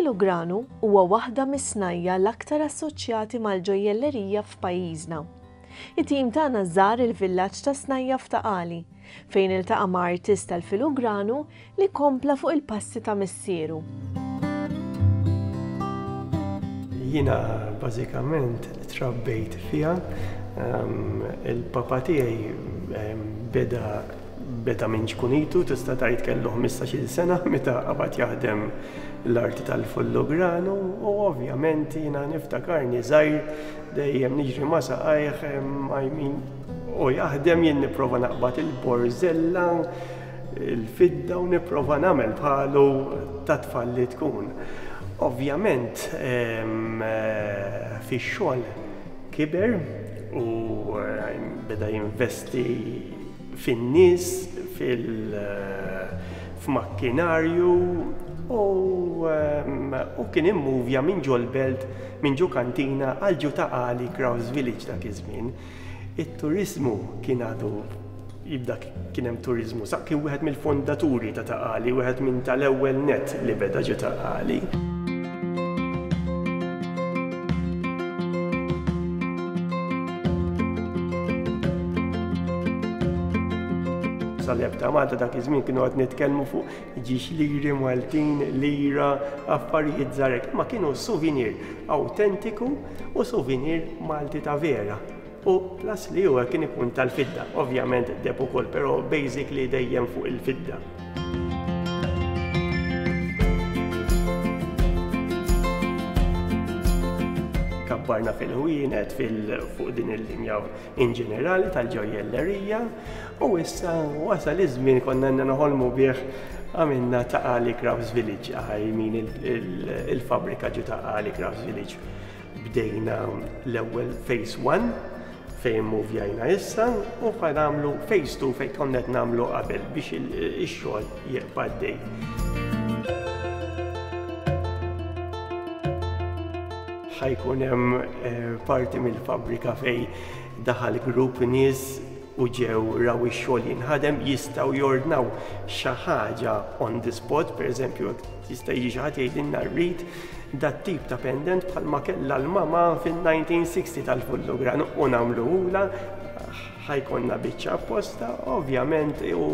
Il-filugranu huwa waħda mis-snajja' l-aktar assoċjati mal-ġojjellerija f'pajjiżna. It-tim tagħna żar il-villaġġ tas-snajja' f'Ta' Qali, fejn iltaqa' ma' artist tal-filugranu li kompla fuq il-passi ta' missieru. Jiena bażikament trabbejt fiha. Il-papa tiegħi beda beda minn ċkunitu, tista' tgħid kellu ħmistax-il sena meta qabad jaħdem l-arti tal-fullogranu u ovvjament jiena niftakarni żgħir dejjem niġri ma' saqajh I mean u jaħdem jien nipprova naqbad il-borżella, il-fidda u nipprova nagħmel bħalu ta' tfal li tkun. Ovvjament fix-xogħol kiber u beda jinvesti fin-nies, fil-makkinarju u u kien immuvja minn ġol-belt, minn ġo kantina għal ġo Ta' Qali Crafts Village dak iż-żmien. It-turiżmu kien għadu jibda kien hemm turiżmu, sa kien wieħed mill-fondaturi ta' Ta' Qali, wieħed minn tal-ewwel nett li beda ġo Ta' Qali. Sal-Leb ta' Malta dak iż-żmien kienu qed nitkellmu fuq ġiex liri Maltin, lira, affarijiet żgħar hekk, imma kienu souvenir awtentiku u souvenir Malti ta' vera. U plus li huwa kien ikun tal-fidda, ovvjament deheb ukoll, però basically dejjem fuq il-fidda. Kabbarna fil-ħwienet fuq din il-linja in ġenerali tal-ġojjellerija u issa wasal iż-żmien konna għandna noħolmu bih għamilna Ta' Qali Crafts Village, I mean il-fabbrika ġo Ta' Qali Crafts Village. Bdejna l-ewwel phase 1 fejn muvjajna issa u ħa nagħmlu phase 2 fejn konna qed nagħmlu qabel biex ix-xogħol jibqa' għaddej. Ħa jkun hemm eh, parti mill-fabbrika fejn daħal grupp nies u ġew raw ix-xogħol jinħadem jistgħu jordnaw xi ħaġa on the spot, pereżempju jista' jiġi xi ħadd jgħidilna rrid dat-tip ta' pendent bħalma kellha l-mama fin-1960 tal-Fullugran u nagħmluhulha ħa jkollna biċċa apposta ovvjament u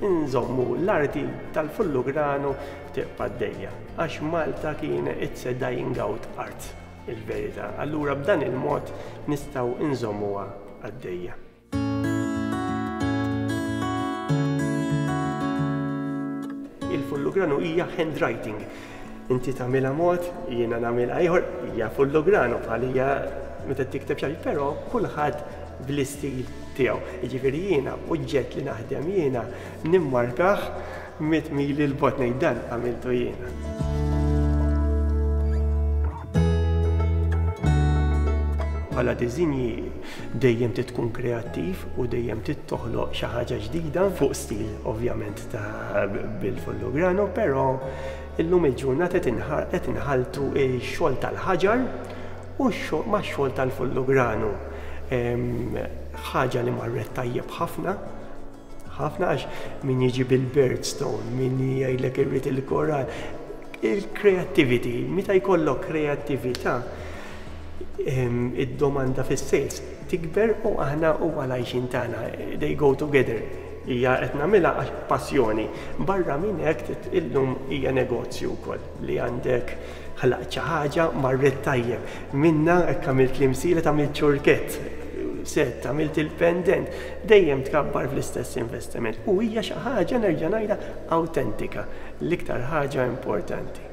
nżommu l-arti tal-Fullugranu tibqa' għaddejja għax Malta kien it's a dying out art il-verità. Allura b'dan il-mod nistgħu nżommuha għaddejja. Il-fullugranu hija handwriting. Inti tagħmilha mod, jiena nagħmilha ieħor, hija fullugranu bħal hija meta tikteb xi però kulħadd bl-istil tiegħu. Jiġifieri jiena oġġett li naħdem jiena nimmarkah mit mili l-bot ngħid dan għamiltu jiena. Bħala diżinji dejjem trid tkun kreattiv u dejjem trid toħloq xi ħaġa ġdida fuq stil ovvjament ta' bil-Fullugrano, però illum il-ġurnata qed inħalltu x-xogħol tal-ħaġar u max-xogħol tal-Fullugrano. Ħaġa li marret tajjeb ħafna ħafna għax min jiġi bil-birdstone, min jgħidlek irrid il-koral. Il-creativity, meta jkollok kreattività, id-domanda fis-sales tikber u aħna huwa l-għajxien tagħna, they go together. Hija qed nagħmilha għax passjoni. Barra minn hekk illum hija negozju wkoll li għandek ħlaqt xi ħaġa marret tajjeb. Minna hekk għamilt l-imsielet għamilt ċurkett, sett, għamilt il-pendent, dejjem tkabbar fl-istess investiment. U hija xi ħaġa nerġa' ngħidha awtentika, l-iktar ħaġa importanti.